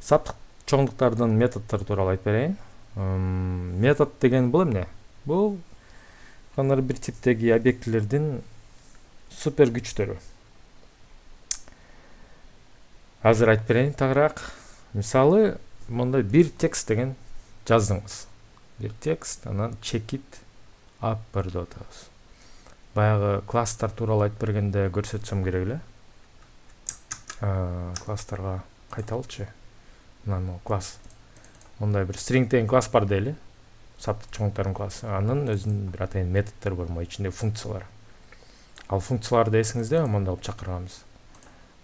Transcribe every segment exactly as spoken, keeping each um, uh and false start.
саптык чоңдуктардын методдору тууралуу айтып берейин. Метод деген бул эмне? Бул кандайдыр бир типтеги объектилердин супер күчтөрү. Азыр айтып берейин тагыраак. Мисалы, мындай бир текст деген жаздыңыз. Бир текст, анан чекит upper деп атабыз. Баягы класстар тууралуу айтып бергенде көрсөтсөм керек эле. Класстарга кайталычы. Мына класс. Мындай бир string деген класс бар дейли. Саптык чоңдуктардын классы. Анын өзүнүн бир атайын методдору бар, могу ичинде функциялар. Ал функцияларды эсиңизде мындай кылып чакырганбыз.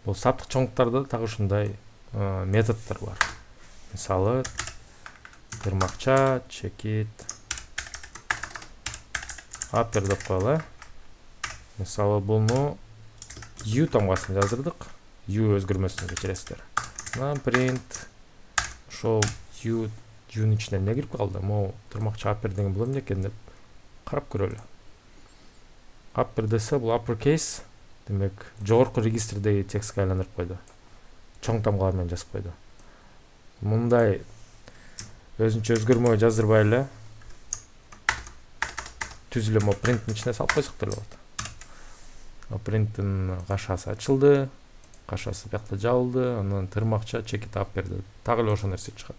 Бул саптык чоңдуктарда дагы ушундай методдор бар. Мисалы, тырмакча чекит upper деп коелу. Мисалы, буну u тамгасын жаздырдык. U өзгөрмөсүн кечиресиздер. Анан print ошол u u'нун ичине эмне кирип калды? Могу тырмакча upper деген бул эмне экен деп карап көрөлү. Upper десе бул uppercase, демек жогорку регистрдеги текстке айландырып койду. Чоң тамгалар менен жазып койду. Мындай өзүнчө өзгөрмө жаздырбай эле түз эле мо printtин ичине салып койсок деле болот. Printtин кашасы ачылды, кашасы бакта жабылды, анан тырмакча чекит upper деп так эле ошол нерсе чыгат.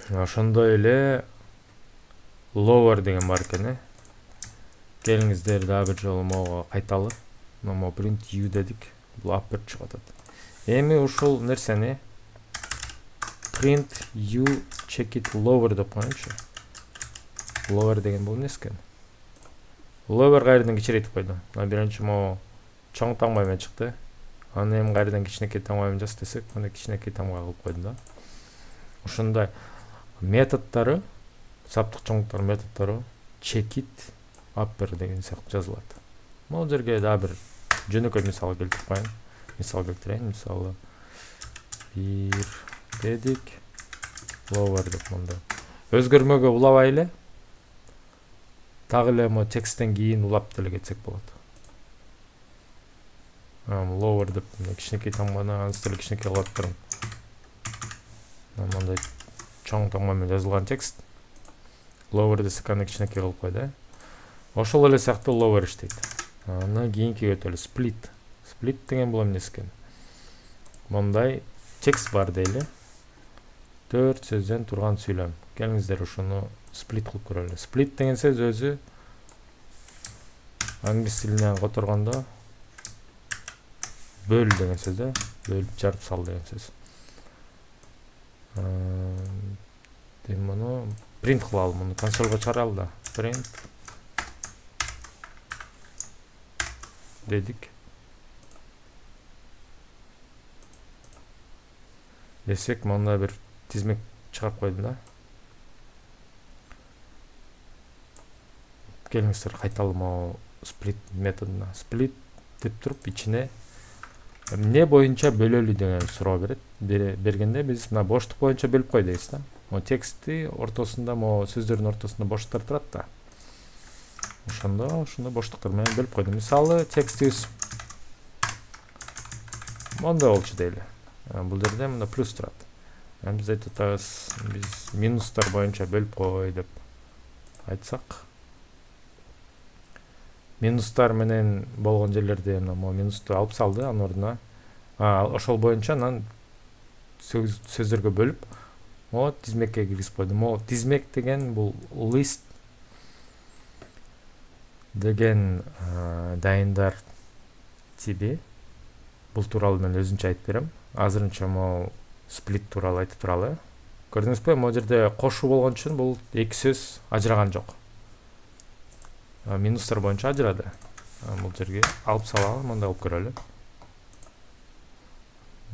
Ошондой эле lower деген бар экен, э. Келиңиздер дагы бир жолу могу кайталы. Мо print u дедик, бул upper чыгып атат. Эми ушул нерсени print u checit lower деп коеюнчу. Lower деген бул эмнеси экен? Lower кайрадан кичирейтип койду. Мына биринчи могу чоң таңба менен чыкты. Аны эми кайрадан кичинекей таңба менен жаз десек, мына кичинекей таңба кылып койду да. Ушундай методдору, саптык чоңдуктар методдору checit upper деген сыяктуу жазылат. Могу жерге дагы бир жөнөкөй мисал келтирип коеюн. Мисал келтирейин. Мисалы, бир дедик, lower деп мындай. Өзгөрмөгө улабай эле так эле мо тексттен кийин улап деле кетсек болот. Lower деп кичинекей таңбаны анстыр кичинекей кылып турам. Мындай чоң таңба менен жазылган текст. Lower десек аны кичинекей кылып койду. Ошол эле сыяктуу lower иштейт. Анан кийинки өтөлү split. Split деген бул эмнеси экен? Мындай текст бар дейли. төрт сөздөн турган сүйлөм. Келиңиздер ушуну split кылып көрөлү. Split деген сөз өзү англис тилинен которгондо бөл деген сөз да, бөлүп жарып сал деген сөз. Эми муну print кылалы, муну консольго чыгаралы да. Print дедик. Десек, мында бир тизмек чыгарып койду да. Келиңиздер кайталы могу split методуна. Split деп туруп ичине эмне боюнча бөлөлү деген суроо берет. Бергенде биз мына боштук боюнча бөлүп кой дейбиз да. Мо текстти ортосунда, мо сөздөрдүн ортосунда боштуктар турат да. Ошондо ушуну боштуктар менен бөлүп койдум. Мисалы, текстибиз мондай болчу дейли. Бул жерде мында плюс турат. Эми биз айтып атабыз, биз минустар боюнча бөлүп кой деп айтсак. Минустар менен болгон жерлерде мо минусту алып салды, анын ордуна ошол боюнча анан сөздөргө бөлүп, мо тизмекке киргизип койду. Мо тизмек деген бул list деген дайындар тиби. Бул тууралуу мен өзүнчө айтып берем. Азырынча мо split тууралуу айтып туралы. Көрдүңүзбү? Могу жерде кошуу болгон үчүн бул эки сөз ажыраган жок. Минустар боюнча ажырады. Бул жерге алып салалы, мындай кылып көрөлү.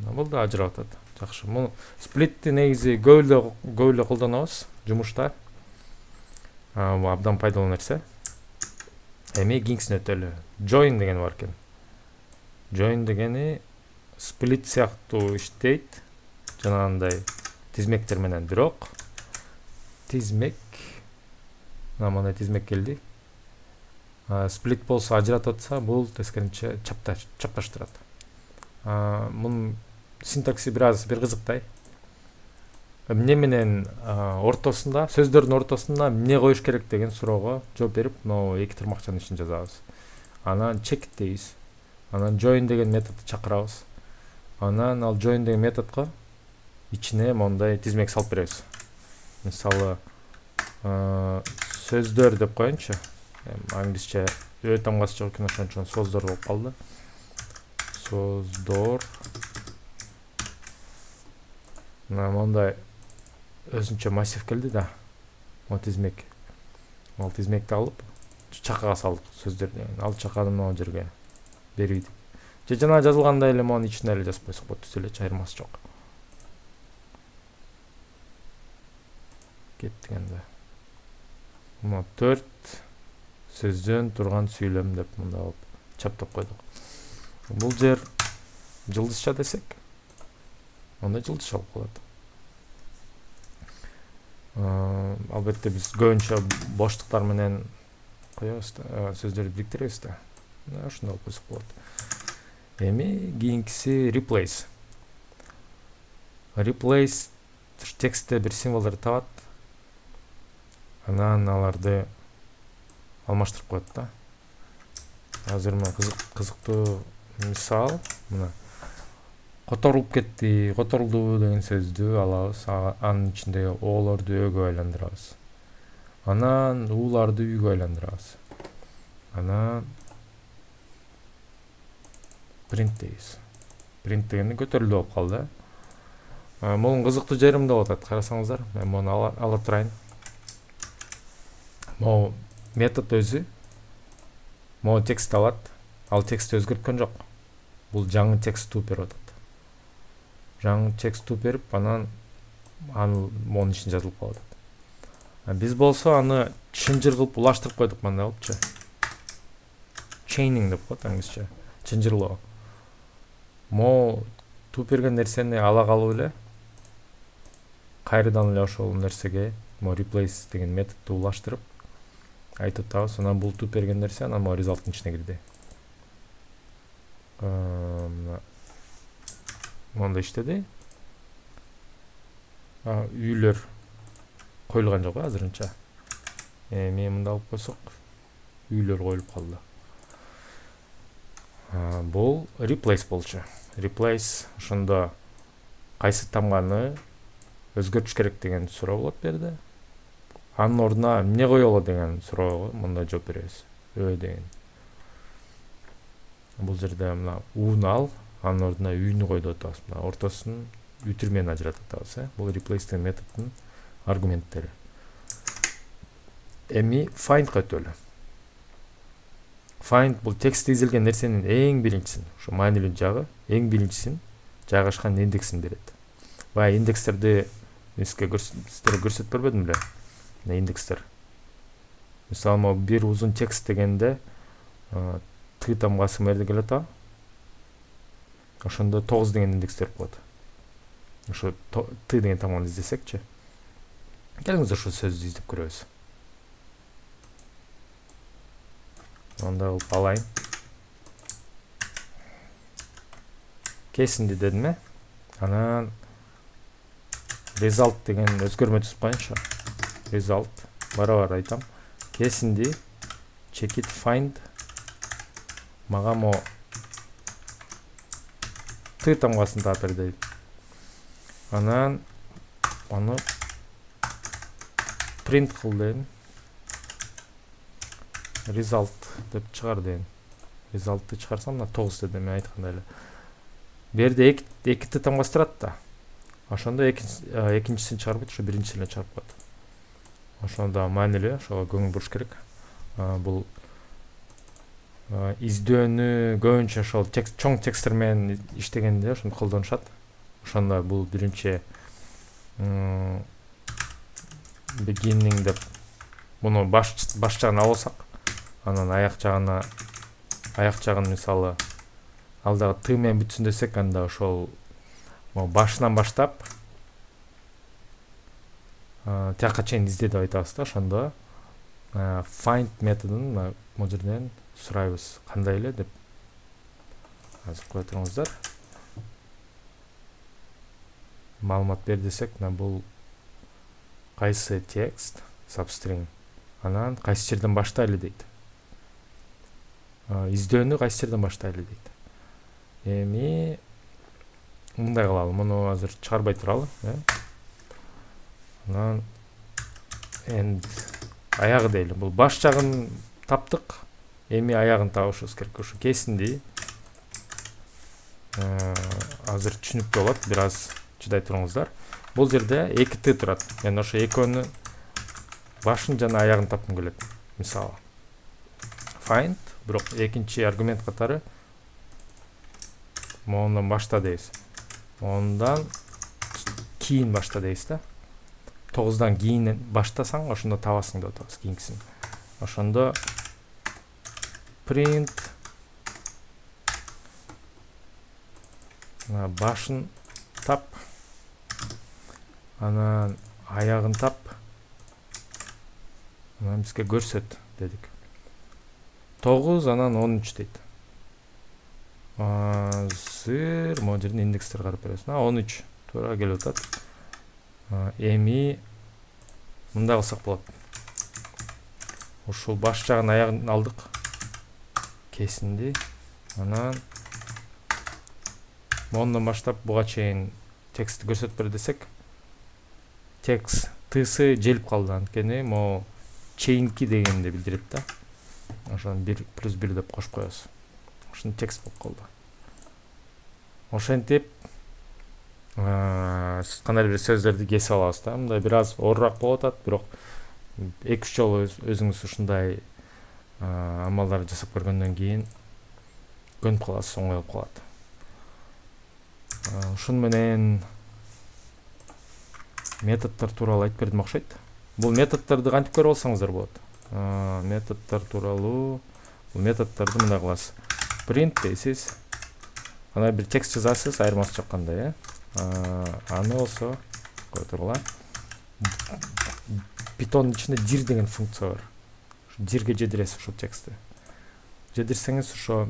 Бул да ажырап атат. Жакшы. Муну splitти негизи көп эле көп эле колдонобуз жумушта. Бул абдан пайдалуу нерсе. Эми кийинкисине өтөлү. Join деген бар экен. Join дегени split сыяктуу иштейт. Жанагындай тизмектер менен, бирок тизмек мындай тизмек келди. Split болсо ажыратып атса, бул тескерисинче чапташтырат. Мунун синтакси бир аз бир кызыктай. Эмне менен ортосунда, сөздөрдүн ортосуна эмне коюш керек деген суроого жооп берип, могу эки тармакчанын ишин жазабыз. Анан check дейбиз. Анан join деген методду чакырабыз. Анан ал join деген методко ичине мондай тизмек салып беребиз. Мисалы, сөздөр деп коеюнчу. Англисче ö тамгасы жок экен, ошон үчүн сөздөр болуп калды. Сөздөр. Мына мондай өзүнчө массив келди да. Могу тизмек. Ал тизмекти алып чакага салдык сөздөр деген. Ал чаканы могу жерге берийдик. Же жана жазылгандай эле монун ичине эле жазып койсок болот, түз эле айырмасы жок. Кеттик энди. Мына төрт сөздөн турган сүйлөм деп мында алып чаптап койдук. Бул жер жылдызча десек, онда жылдызча болуп калат. Албетте биз көбүнчө боштуктар менен коебуз да, сөздөрдү бириктиребиз да. Ошондой болуп койсок болот. Эми кийинкиси replace. Replace текстте бир символдорду табат. Анан аларды алмаштырып коет да. Азыр мына кызыктуу мисал, мына которулуп кетти, которулду деген сөздү алабыз, анын ичиндеги оолорду өгө айландырабыз. Анан ууларды үйгө айландырабыз. Анан print дейбиз. Print дегенде көтөрүлдү болуп калды. Мунун кызыктуу жери мында болуп атат, карасаңыздар. Мен муну ала, ала турайын. Могу метод өзү могу текст алат. Ал текстти өзгөрткөн жок. Бул жаңы текст туп берип атат. Жаңы текст туп берип, анан аны монун ичине жазылып калып атат. Биз болсо аны чынжыр кылып улаштырып койдук мындай болупчу. Chaining деп коет англисче. Чынжырлоо. Могу туп берген нерсени ала калып эле кайрадан эле ошол нерсеге могу replace деген методду улаштырып айтып атабыз. Анан бул туп берген нерсе анан могу result-тын ичине кирди. Монда иштеди. Үйлөр коюлган жок азырынча. Эми мында алып койсок, үйлөр коюлуп калды. Бул replace болчу. Replace ошондо кайсы тамганы өзгөртүш керек деген суроо болот берди. Анын ордуна эмне коелу деген суроого мында жооп беребиз. Ö деген. Бул жерде мына уну ал, анын ордуна үйнү кой деп атабыз. Мына ортосун үтүр менен ажыратып атабыз, э. Бул replace деген методдун аргументтери. Эми find'га өтөлү. Find бул текстте изилген нерсенин эң биринчисин, ошо маанилүү жагы, эң биринчисин жайгашкан индексин берет. Баягы индекстерди эске сиздерге көрсөтүп бербедим беле? Мына индекстер. Мисалы, могу бир узун текст дегенде т тамгасы мерде келет а. Ошондо тогуз деген индекстер болот. Ошо т деген тамганы издесекчи. Келиңиздер ошол сөздү издеп көрөбүз. Онда кылып алайын. Кесинди дедим э. Анан result деген өзгөрмө түзүп коеюнчу. Result барабар айтам. Кесинди check it find мага мо т тамгасын таап бер дейт. Анан аны print кыл дейм. Result деп чыгар дейм. Result'ты чыгарсам мына тогуз дедим мен айткандай эле. Бу жерде эки эки т тамгасы турат да. Ошондо экинчисин чыгарбайт, ошо биринчисин эле чыгарып коет. Ошондо маанилүү, ошого көңүл буруш керек. Бул издөөнү көбүнчө ошол текст чоң тексттер менен иштегенде ошону колдонушат. Ошондо бул биринчи beginning деп муну баш баш жагын алсак, анан аяк жагына аяк жагын мисалы ал дагы т менен бүтсүн десек, анда ошол башынан баштап тияка чейин изде деп айтабыз да. Ошондо find методун могу жерден сурайбыз кандай эле деп. Азыр кое туруңуздар. маалымат бер десек, мына бул кайсы текст substring, анан кайсы жерден баштайлы дейт. Издөөнү кайсы жерден баштайлы дейт. Эми мындай кылалы, муну азыр чыгарбай туралы, э? Анан end аягы дейли. Бул баш жагын таптык, эми аягын табышыбыз керек. Ушу кесинди азыр түшүнүктүү болот, бир аз чыдай туруңуздар. Бул жерде эки т турат. Мен ошо экөөнү башын жана аягын тапкым келет. Мисалы find, бирок экинчи аргумент катары мондан башта дейбиз. Ондан кийин башта дейбиз да. тогуздан кийин баштасаң, ошондо табасың деп атабыз кийинкисин. Ошондо print башын тап, анан аягын тап, анан бизге көрсөт дедик. тогуз анан он үч дейт. Азыр могу жерден индекстер карап беребиз. он үч туура келип атат. Эми мындай кылсак болот. Ушул баш жагын аягын алдык. Кесинди. Анан мондан баштап буга чейин текстти көрсөтүп бер десек, текст тысы желип калды, анткени могу чейинки дегенди билдирет да. Ошону бир плюс бир деп кошуп коебуз. Ошону текст болуп калды. Ошентип кандайдыр бир сөздөрдү кесип алабыз да. Мындай бир аз оорураак болуп атат, бирок эки үч жолу өзүңүз ушундай амалдарды жасап көргөндөн кийин көнүп каласыз, оңой болуп калат. Ушун менен методдор тууралуу айтып бердим окшойт. Бул методдорду кантип көрүп алсаңыздар болот. Методдор тууралуу, бул методдорду мындай кыласыз. Print дейсиз. Анан бир текст жазасыз, айырмасы жок кандай, э? Аны болсо кое тургула. Python'ун ичинде dir деген функция бар. Ушу dirге жедиресиз ушул текстти. Жедирсеңиз ошо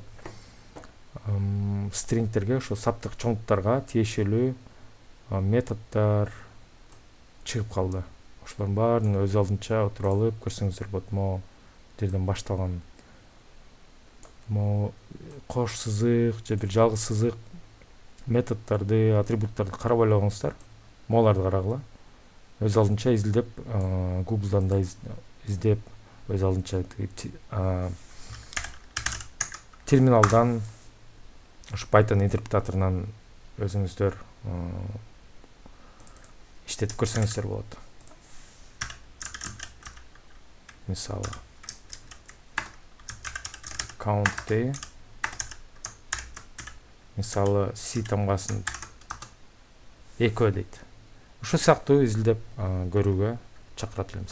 стрингтерге, ошо саптык чоңдуктарга тиешелүү методдор чыгып калды. Ошолордун баарын өз алдынча отуруп алып көрсөңүздөр болот. Могу жерден башталган могу кош сызык же бир жалгыз сызык методдорду, атрибуттарды карап ойлогоңуздар. Могуларды карагыла. Өз алдынча изилдеп, Google'дан да издеп, өз алдынча терминалдан, ушу Python интерпретаторунан өзүңүздөр иштетип көрсөңүздөр болот. Мисалы count, мисалы C тамгасын экөө дейт. Ушул сыяктуу изилдеп көрүүгө чакырат элем.